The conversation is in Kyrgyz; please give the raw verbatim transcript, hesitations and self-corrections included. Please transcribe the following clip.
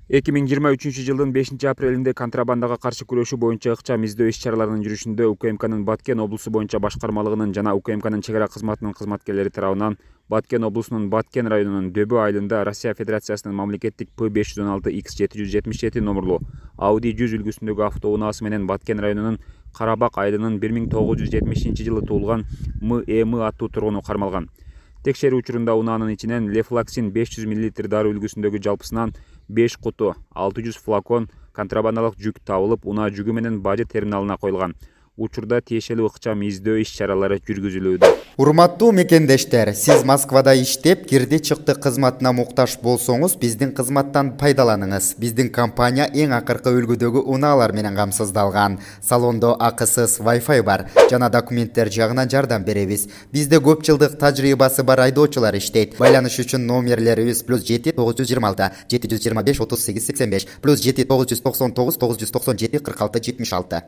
эки миң жыйырма үчүнчү жылдын бешинчи апрелинде контрабандага каршы күрөшүү боюнча ыкчам издөө иш-чараларынын жүрүшүндө УКМКнын Баткен облусу боюнча башкармалыгынын жана УКМКнын чек ара кызматынын кызматкерлери тарабынан Баткен облусунун Баткен районунун Дөбө айылында Россия Федерациясынын мамлекеттик П беш жүз он алты Х жети жүз жетимиш жети номерлуу Audi жүз үлгүсүндөгү автоунаасы менен Баткен районунун Карабак айылынын бир миң тогуз жүз жетимишинчи жылы туулган М Эм аттуу тургуну кармалган. Текшерүү учурунда унаанын ичинен лефлаксин беш жүз миллилитр дароо үлгүсүндөгү жалпысынан беш куту, алты жүз флакон контрабандалык жүк табылып, унаа жүгү менен бажы терминалына коюлган. Учурда тиешелүү ыкчам издөө иш-чаралары жүргүзүлүүдө. Урматтуу мекендештер, сиз Москвада иштеп, кирди чыкты кызматына муктаж болсоңуз, биздин кызматтан пайдаланыңыз. Биздин компания эң акыркы үлгүдөгү унаалар менен камсыздалган. Салондо акысыз Wi-Fi бар жана документтер жагынан жардам беребиз. Бизде көп жылдык тажрыйбасы бар айдоочулар иштейт. Байланыш үчүн номерлерибиз плюс жети тогуз жүз жыйырма алты жети жүз жыйырма беш отуз сегиз сексен беш плюс жети тогуз жүз токсон тогуз тогуз жүз токсон жети кырк алты жетимиш алты.